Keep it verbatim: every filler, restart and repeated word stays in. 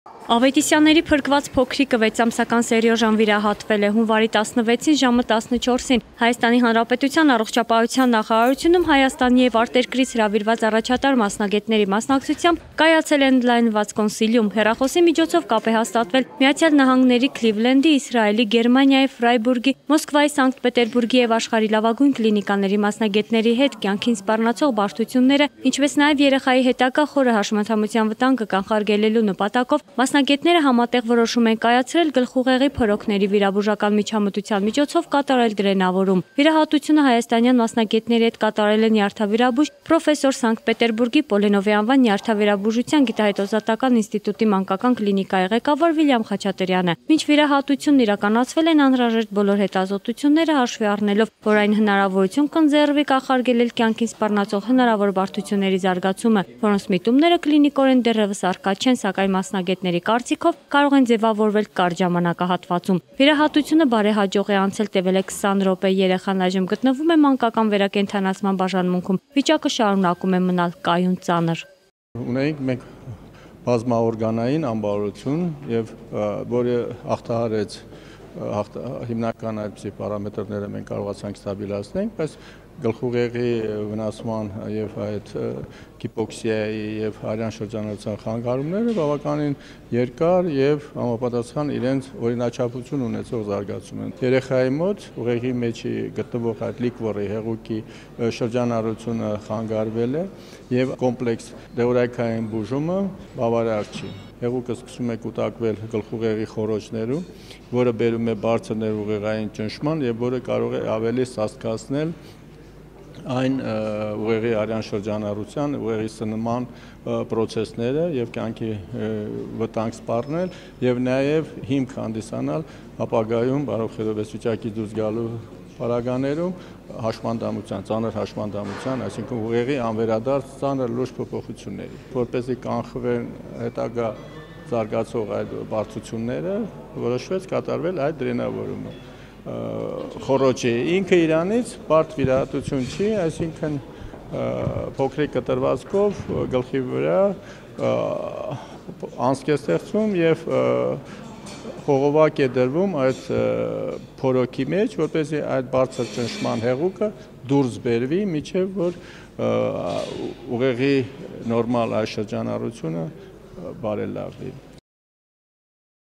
Ավետիսյանների փրկված փոքրիկը վեցամսական Սերյոժան վիրահատվել է հունվարի տասնվեցին ժամը տասնչորսին Հայաստանի Հանրապետության առողջապահության նախարարությունում Հայաստանի եւ արտերկրից հրավիրված առաջատար մասնագետների մասնակցությամբ կայացել է ընդլայնված կոնսիլիում։ Հեռախոսի միջոցով կապ է հաստատվել Միացյալ Նահանգների Քլիվլենդի, Իսրայելի, Գերմանիայի, Ֆրայբուրգի, Մոսկվայի, Սանկտ Պետերբուրգի եւ աշխարհի լավագույն կլինիկաների մասնագետների հետ կյանքին սպառնացող բարդությունները, ինչպես նաեւ երեխայի հետագա խորը հաշմանդամության վտանգը կանխարգելելու նպատակով Մասնագետները համատեղ որոշում են կայացրել գլխուղեղի փորոքների վիրաբուժական միջամտության միջոցով կատարել դրենավորում։ Վիրահատությունը հայաստանյան մասնագետների հետ կատարել է նյարդավիրաբույժ պրոֆեսոր Սանկտ Պետերբուրգի Պոլենովի անվան նյարդավիրաբուժության գիտահետազոտական ինստիտուտի մանկական կլինիկայի ղեկավար Վիլյամ Խաչատրյանը։ Մինչ վիրահատությունն իրականացվել են անհրաժեշտ բոլոր հետազոտությունները հաշվի առնելով, որ այն հնարավորություն կընձեռվի կանխարգելել կյանքին սպառնացող հնարավոր բարդությունների զարգացումը, որոնց միտումները կլինիկորեն դեռևս առկա չեն, սակայն մասնագետների կարծիքով կարող են ձևավորվել կարճ ժամանակահատվածում։ Վիրահատությունը բարեհաջող է անցել, տևել է քսան րոպե, երեխան այժմ գտնվում է մանկական վերակենդանացման բաժանմունքում։ Վիճակը շարունակում է մնալ կայուն ծանր։ Ունենք մենք բազմաօրգանային ամբարություն, եւ որը հաղթահարեց հիմնական այդպիսի պարամետրները մենք կարողացանք ստաբիլացնել, բայց գլխուղեղի վնասման եւ այդ հիպոքսիայի եւ արյան շրջանառության խանգարումները բավականին երկար եւ համապատասխան իրենց օրինաչափություն ունեցող զարգացում են։ Երեխայի մոտ ուղեղի մեջի գտնվող այդ լիկվորի հեղուկի շրջանառությունը խանգարվել է եւ կոմպլեքս դեորայքային բուժումը բավարար չի։ Հեղուկը սկսում է կուտակվել գլխուղեղի խոռոչներում, որը բերում է բարձր ներուղեղային ճնշման եւ որը կարող է ավելի սաստկացնել այն ուղեղի արյան շրջանառության, ուղեղի սնման պրոցեսները եւ կյանքի վտանգ սպառնել եւ նաեւ հիմք հանդիսանալ ապագայում բարոյ խելովես վիճակի դուրս գալու պարագաներում հաշմանդամության, ծանր հաշմանդամության, այսինքն ուղեղի անվերադարձ ծանր լուրջ փոփոխությունների, որպեսզի կանխվեն հետագա զարգացող այդ բարդությունները, որոշվեց կատարվել այդ դրենավորումը։ Խոռոչի ինքը իրանից բարդ վիրահատություն չի, այսինքն փոքրիկ կտրվածքով գլխի վրա անցք է ստեղծվում եւ խողովակ է դրվում այդ փորոքի մեջ, որպեսզի այդ բարձր ճնշման հեղուկը դուրս բերվի, մինչեւ որ ուղեղի նորմալ այս շրջանառությունը բարելավվի։